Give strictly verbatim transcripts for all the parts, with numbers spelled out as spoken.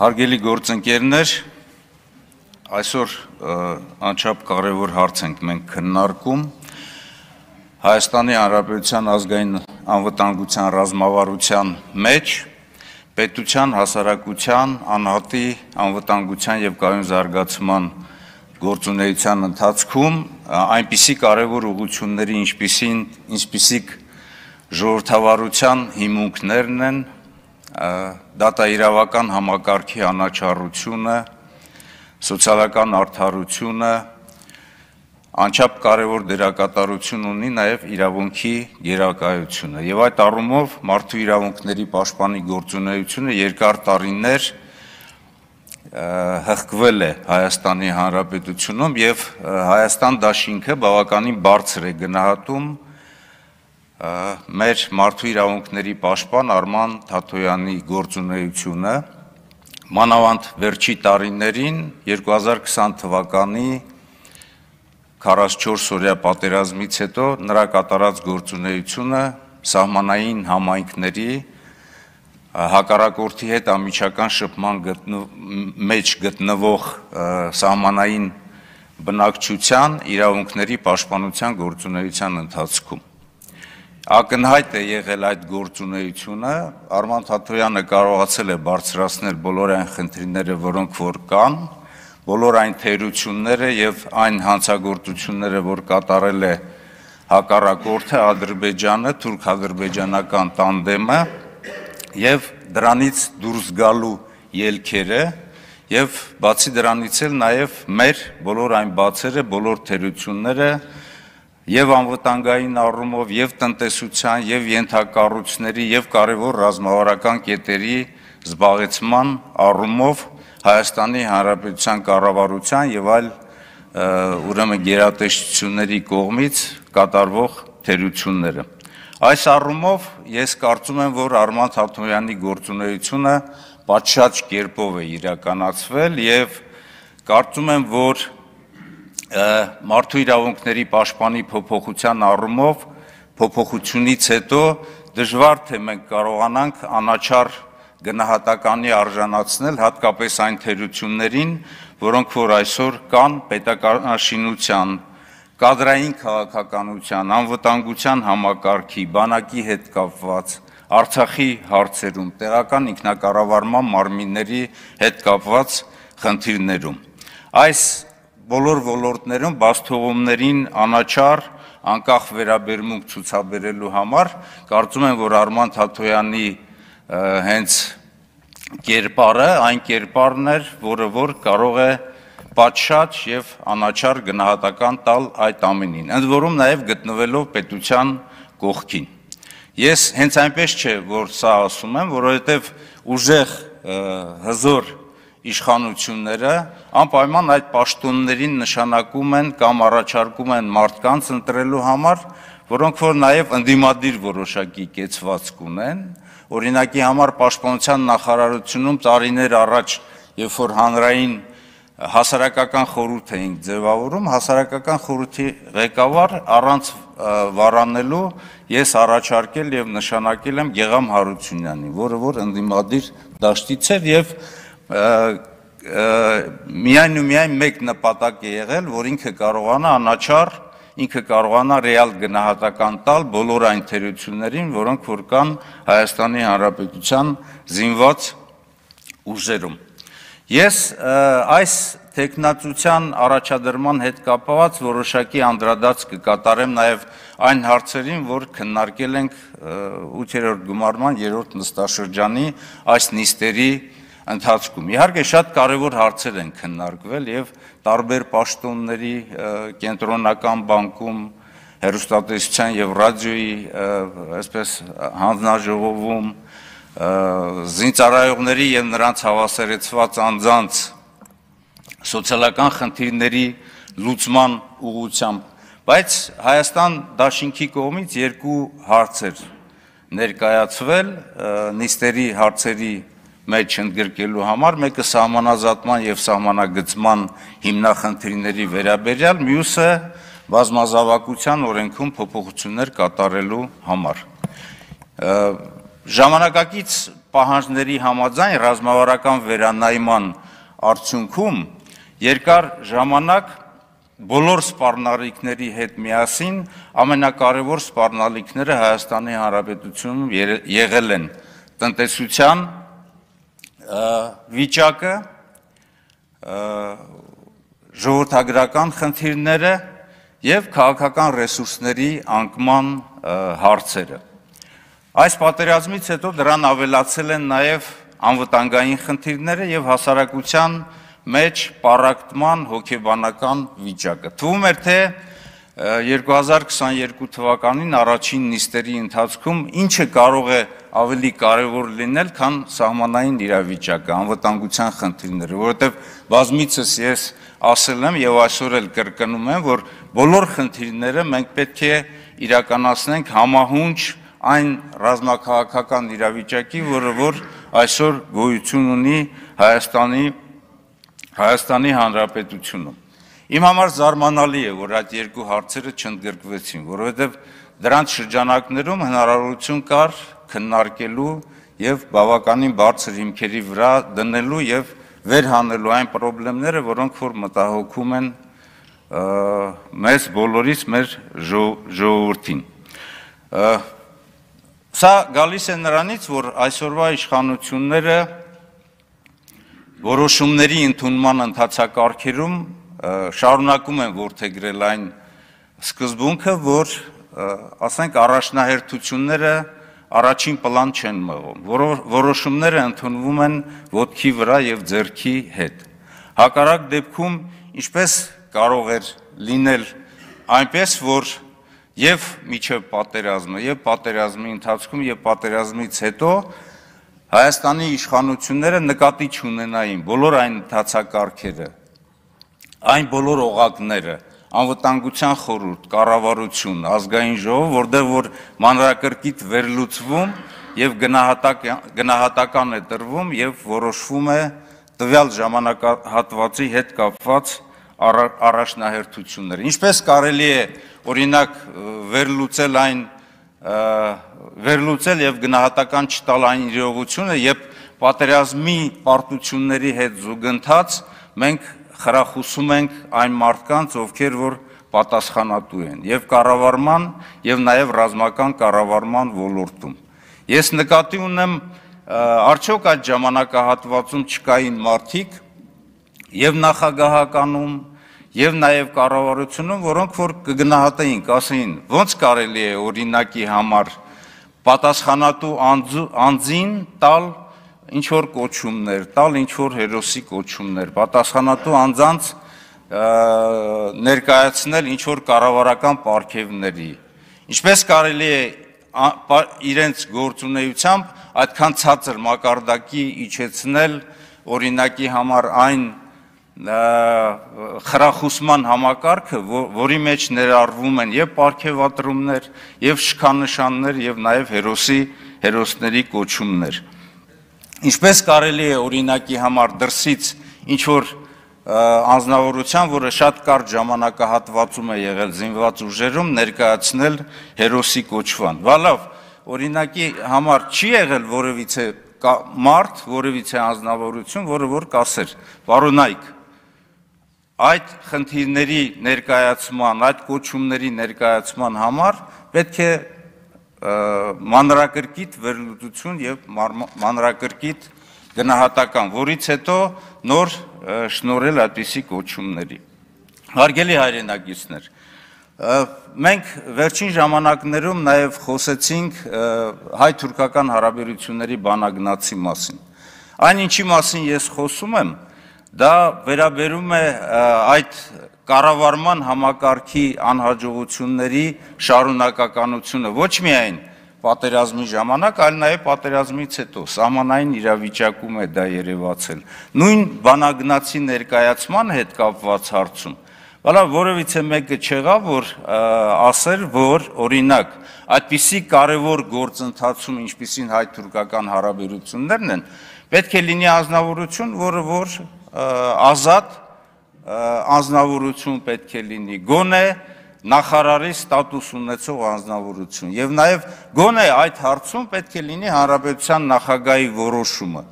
Հարգելի գործընկերներ, այսօր անչափ կարևոր հարց ենք մենք քննարկում Հայաստանի Հանրապետության ազգային անվտանգության ռազմավարության մեջ պետության, հասարակության, անհատի անվտանգության եւ կայուն զարգացման գործունեության ընթացքում այնպիսի կարևոր ուղղությունների, ինչպիսին ինչպիսիք ժողովրդավարության հիմունքներն են, դատաիրավական համակարգի անաչառությունը, սոցիալական արդարությունը, անչափ կարևոր դերակատարություն ունի նաև իրավունքի գերակայությունը եւ այդ առումով մարդու իրավունքների պաշտպանի գործունեությունը երկար տարիներ հղկվել է Հայաստանի Հանրապետությունում եւ Հայաստան դաշինքը բավականին բարձր է գնահատում մեր մարդու իրավունքների պաշտպան Արման Թաթոյանի գործունեությունը մանավանդ վերջի տարիներին երկու հազար քսան թվականի քառասունչորս-օրյա պատերազմից հետո նրա կատարած գործունեությունը սահմանային համայնքների հակառակորդի հետ ամիջական շփման մեջ գտնվող սահմանային բնակչության իրավունքների պաշտպանության գործունեության ընթացքում ակնհայտ է եղել այդ գործունեությունը Արման Թաթոյանը կարողացել է բարձրացնել բոլոր այն խնդիրները, որոնք որ կան, բոլոր այն թերությունները եւ այն հանցագործությունները, որ կատարել է հակառակորդը Ադրբեջանը, թուրք-ադրբեջանական տանդեմը եւ դրանից դուրս գալու ելքերը եւ բացի դրանից էլ նաեւ մեր բոլոր այն բացերը, բոլոր թերությունները եւ անվտանգային առումով եւ տնտեսության եւ ենթակառույցների եւ կարևոր ռազմավարական կետերի զբաղեցման առումով Հայաստանի Հանրապետության կառավարության եւ այլ ուրեմն գերատեսչությունների կողմից կատարվող թերությունները այս առումով ես կարծում եմ որ Արման Թաթոյանի գործունեությունը պատշաճ կերպով է իրականացվել եւ կարծում եմ որ մարդու իրավունքների պաշտպանի փոփոխության առումով փոփոխությունից հետո դժվար թե մենք կարողանանք անաչառ գնահատականի արժանացնել հատկապես այն թերություններին, որոնք որ այսօր կան պետականաշինության, կադրային քաղաքականության, անվտանգության համակարգի, բանակի հետ կապված, Արցախի հարցերում, տեղական ինքնակառավարման մարմինների հետ կապված խնդիրներում։ Այս բոլոր ոլորտներում բացթողումներին անաչառ անկախ վերաբերմունք ցուցաբերելու համար կարծում եմ որ Արման Թաթոյանի հենց կերպարը այն կերպարն էր որը որ կարող է պատշաճ եւ անաչառ գնահատական տալ այդ ամենին ընդ որում նաեւ գտնվելով պետության կողքին ես հենց այնպես չէ որ սա ասում եմ որովհետեւ ուժեղ հզոր իշխանությունները անպայման այդ պաշտոններին նշանակում են կամ առաջարկում են մարդկանց ընտրելու համար, որոնք որ նաև ընդդիմադիր որոշակի կեցվածք ունեն, օրինակի համար պաշտպանության նախարարությունում տարիներ առաջ, երբ որ հանրային հասարակական խորհուրդ էինք ձևավորում, հասարակական խորհրդի ղեկավար առանց վարանելու ես առաջարկել եւ նշանակել եմ Գեգամ Հարությունյանին, որը որ ընդդիմադիր դաշտից էր եւ միայն ու միայն մեկ նպատակ է եղել, որ ինքը կարողանա անաչառ, ինքը կարողանա ռեալ գնահատական տալ բոլոր այն թերություններին, որոնք որ կան Հայաստանի Հանրապետության զինված ուժերում։ Ես այս տեխնացության առաջադրման հետ կապված որոշակի անդրադարձ կկատարեմ նաև այն հարցերին, որ քննարկել ենք ութերորդ գումարման երրորդ նստաշրջանի այս նիստերի ընթացքում իհարկե շատ կարևոր հարցեր են քննարկվել եւ տարբեր պաշտոնների կենտրոնական բանկում հեռուստատեսության եւ ռադիոյի այսպես հանձնաժողովում զինծառայողների եւ նրանց հավասարեցված անձանց սոցիալական խնդիրների լուծման ուղղությամբ բայց Հայաստան դաշինքի կողմից երկու հարց էր ներկայացվել նիստերի հարցերի մեջ ընդգրկելու համար մեկը սահմանազատման եւ սահմանագծման հիմնախնդիրների վերաբերյալ մյուսը բազմազավակության օրենքում փոփոխություններ կատարելու համար Ժամանակակից պահանջների համաձայն ռազմավարական վերանայման արդյունքում երկար ժամանակ բոլոր սպառնալիքների հետ միասին ամենակարևոր սպառնալիքները Հայաստանի Հանրապետությունում եղել են տնտեսության վիճակը, ժողովրդագրական խնդիրները եւ քաղաքական ռեսուրսների անկման հարցերը։ Այս պատերազմից հետո դրան ավելացել են նաեւ անվտանգային խնդիրները եւ հասարակության մեջ պառակտման հոգեբանական վիճակը։ Թվում էր, թե երկու հազար քսաներկու թվականին առաջին նիստերի ընթացքում ինչը կարող է ավելի կարևոր լինել, քան սահմանային իրավիճակը, անվտանգության խնդիրները, որովհետև բազմիցս ես ասել եմ եւ այսօր էլ կրկնում եմ, որ բոլոր խնդիրները մենք պետք է իրականացնենք համահունչ այն ռազմաքաղաքական իրավիճակի, որը որ այսօր գոյություն ունի Հայաստանի Հայաստանի Հանրապետությունում։ Իմ համար զարմանալի է, որ այդ երկու հարցերը չընդգրկվեցին, որովհետև դրանց շրջանակներում հնարավորություն կար քննարկելու եւ բավականին բարձր հիմքերի վրա դնելու եւ վերհանելու այն խնդիրները, որոնք որ մտահոգում են մեզ բոլորիս, մեր ժողովրդին։ Սա գալիս է նրանից, որ այսօրվա իշխանությունները որոշումների ընդունման ընթացակարգերում շարունակում են որդեգրել այն սկզբունքը, որ ասենք առաջնահերթությունները առաջին պլան չեն մղում, որոշումները ընդունվում են ոտքի վրա եւ ձեռքի հետ։ Հակառակ դեպքում ինչպես կարող էր լինել այնպես, որ եւ միջև պատերազմը, եւ պատերազմի ընթացքում, եւ պատերազմից հետո Հայաստանի իշխանությունները նկատի չունենային բոլոր այն ընթացակարգերը, այն բոլոր օղակները, անվտանգության խորհուրդ, կառավարություն, ազգային ժողով, որտեղ որ մանրակրկիտ վերլուծվում եւ գնահատական է տրվում եւ որոշվում է տվյալ ժամանակահատվածի հետ կապված առաջնահերթությունները։ Ինչպես կարելի է օրինակ վերլուծել այն վերլուծել եւ գնահատական չտալ այն իրողությունը, երբ պատերազմի պարտությունների հետ զուգընթաց մենք խրախուսում ենք այն մարդկանց, ովքեր որ պատասխանատու են եւ կառավարման եւ նաեւ ռազմական կառավարման ոլորտում։ Ես նկատի ունեմ, արդյոք այդ ժամանակահատվածում չկային մարդիկ եւ նախագահականում եւ նաեւ կառավարությունում, որոնք որ կգնահատեին, կասեին, ոնց կարելի է օրինակի համար պատասխանատու անձին տալ ինչ որ կոչումներ, տալ ինչ որ հերոսի կոչումներ, պատասխանատու անձանց ներկայացնել ինչ որ կառավարական պարգևների։ Ինչպես կարելի է իրենց գործունեությամբ այդքան ցածր մակարդակի իջեցնել օրինակի համար այն խրախուսման համակարգը, որի մեջ ներառվում են եւ պարգևատրումներ, եւ շքանշաններ, եւ նաեւ հերոսի հերոսների կոչումներ։ Ինչպես կարելի է օրինակի համար դրսից ինչ որ անձնավորության, որը շատ կարճ ժամանակահատվածում է եղել զինված ուժերում, ներկայացնել հերոսի կոչման։ Վալավ, օրինակի համար չի եղել որևիցե մարդ, որևիցե անձնավորություն, որը որ կասեր, պարոնայք, այդ խնդիրների ներկայացման, այդ կոչումների ներկայացման համար պետք է մանրակրկիտ վերլուծություն եւ մանրակրկիտ գնահատական, որից հետո նոր շնորհել այդպիսի կոչումների։ Հարգելի հայրենակիցներ, մենք վերջին ժամանակներում նաեւ խոսեցինք հայ-թուրքական հարաբերությունների բանագնացի մասին։ Այն ինչի մասին ես խոսում եմ, դա վերաբերում է այդ կառավարման համակարգի անհաջողությունների շարունակականությունը ոչ միայն պատերազմի ժամանակ, այլ նաև պատերազմից հետո սահմանային իրավիճակում է դա երևացել։ Նույն բանագնացի ներկայացման հետ կապված հարցում, բալա որևիցե մեկը չեղավ, որ ասեր, որ օրինակ այդպիսի կարևոր գործընթացում, ինչպիսին հայ-թուրքական հարաբերություններն են, պետք է լինի անձնավորություն, որը որ ազատ անձնավորություն պետք է լինի, գոնե նախարարի ստատուս ունեցող անձնավորություն եւ նաեւ գոնե այդ հարցում պետք է լինի հանրապետության նախագահի որոշումը։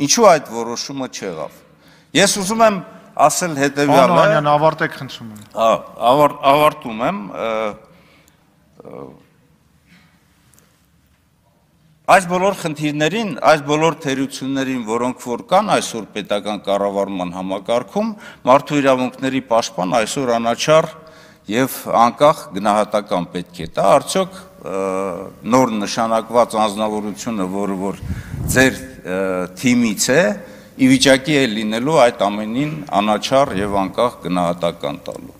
Ինչու այդ որոշումը չեղավ։ Ես ուզում եմ ասել հետեւյալը։ Պարոն Օհանյան, ավարտեք խնդրում եմ։ Հա, ավարտում եմ։ Այս բոլոր խնդիրներին, այս բոլոր թերություններին, որոնք որ կան այսօր պետական կառավարման համակարգում, մարդու իրավունքների պաշտպան այսօր անաչառ եւ անկախ գնահատական պետք է տա, արդյոք նոր նշանակված անձնավորությունը, որը որ ձեր թիմից է, ի վիճակի է լինելու այդ ամենին անաչառ եւ անկախ գնահատական տալու։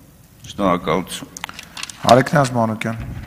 Շնորհակալություն։ Հարիկ Նազմանոկյան։